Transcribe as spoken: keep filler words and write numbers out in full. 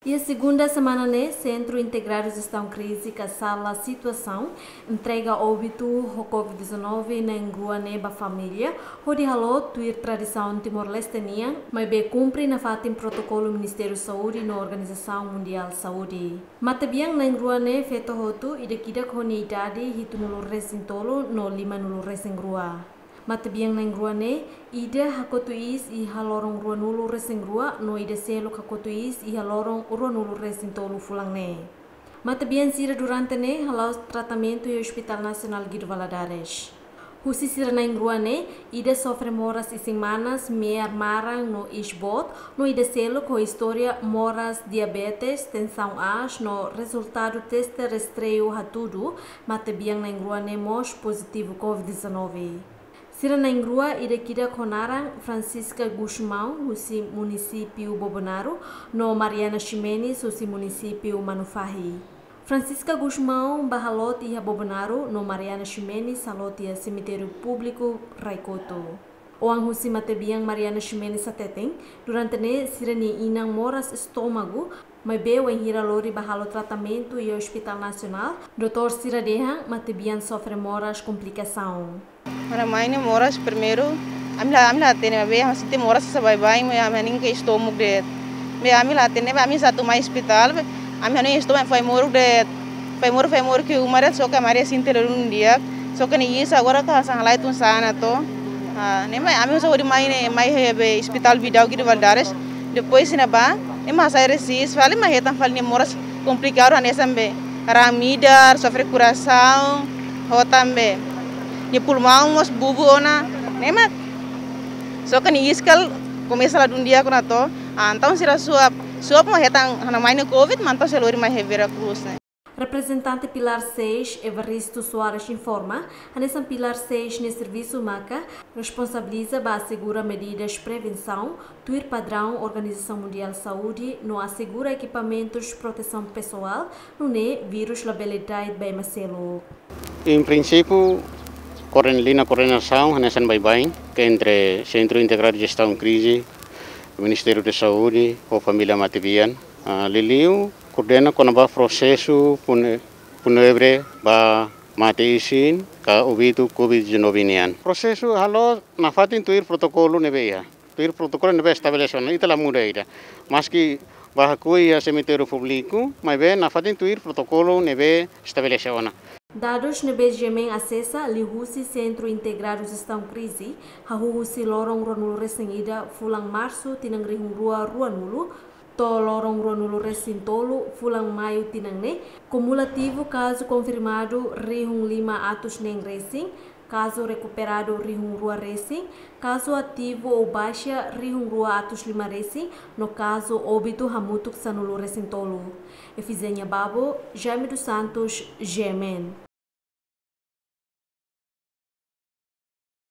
Iha segunda semana ne'e, Sentru Integradu Jestaun Krize ka Sala Situasaun entrega óbitu ho covid dezanove na'in-rua ne'e ba família, hodi halo tuir tradisaun Timor-Leste nian, maibé kumpre nafatin protokolu Ministériu Saúde no Organizasaun Mundiál Saúde. Matebian na'in-rua ne'e feto hotu, ida ki'ik ho nia idade hitunulu-resin-tolu no limanulu-resin-rua. Matebian na'in-rua ne'e, ida hakotu iis iha loron ruanulu-resin-rua no ida seluk hakotu iis iha loron ruanulu-resin-tolu fulan ne'e. Matebian sira durante ne'e hala'o tratamentu iha Hospital Nasionál Guido Valadares. Husi sira na'in-rua ne'e, ida sofre moras isin-manas, me'ar maran no iis boot, no ida seluk ho istória moras diabetes, tensaun aas no rezultadu teste rastreiu hatudu matebian na'in-rua ne'e mós pozitivu covid dezanove. Sira na'in-rua, ida ki'ik ho naran Francisca Gusmão, husi munisípiu Bobonaro, no Mariana Ximenes, husi munisípiu Manufahi. Francisca Gusmão bá haloot iha Bobonaro, no Mariana Ximenes haloot iha semitériu públiku Raikoto. Oan husi matebian Mariana Ximenes hateten, durante ne'e sira-nia inan moras estómagu, maibé wainhira lori bá halo tratamentu iha Hospital Nasionál, doutór sira dehan matebian sofre moras komplikasaun. Ha'u-nia mai ne'e moras primeiru, ami la, ami la hatene, maibé ami sente moras sasán baibain, maibé ami hanoin ke estómagu de'it. Maibé ami la hatene, maibé ami sa'e atu mai ospitál, maibé ami hanoin estómagu foin moruk de'it, foin moruk, foin moruk ke uma de'it, só ke ami haree sente lelun di'ak, só ke nia iis agora ka sa'e halai tun sana to. Ah, ne'e mak ami só hodi mai ne'e, mai iha be ospitál Vidal Guido Valadares, depois ne'ebá, ne'e mak sai resiste, fali mak hetan fali nia moras komplikadu hanesan be raan midar, sofre korasaun, ho tanba nia pulmaun mós bubu ona, ne'e mak. Só ke nia iis kala komesa ladún di'ak ona to, ah, entaun sira suap, suap mak hetan ha'u-nia mai ne'e covid, mak entaun sira lori mai iha Vera Cruz ne'e. Reprezentante Pilar seis, Evaristo Soares informa, hanesan Pilar seis nia servisu maka responsabiliza ba asegura medidas prevensaun, tuir padraun Organizasaun Mundiál Saúde, no asegura ekipamentus protesaun pesoál, nune'e vírus labele da'et ba ema seluk. Em princípio, koorden-, liña koordenasaun hanesan baibain, ke entre Sentru Integradu Jestaun Krize, Ministériu Saúde, ho família matebian. Ah, liuliu koordena kona-ba prosesu pune-, funebre ba mate-isin ka óbitu covid dezanove nian. Prosesu halo nafatin tuir protokolu ne'ebé iha. Tuir protokolu ne'ebé estabelese ona, ita la muda ida. Maski bá hakoi iha semitériu públiku, maibé nafatin tuir protokolu ne'ebé estabelese ona. Dadus ne'ebé GMN asesa liuhusi Sentru Integradu Jestaun Krize, hahú husi loron ruanulu-resin-ida fulan Marsu tinan rihun rua ruanulu, to'o loron ruanulu-resin-tolu fulan Maiu tinan ne'e, kumulativu kazu konfirmadu rihun lima atus neen resin, kazu rekuperadu rihun rua resin, kazu ativu ou baixa rihun rua atus lima resin, no kazu óbitu hamutuk sanulu-resin-tolu. Efizénia Babo, Jaime dos Santos, GMN.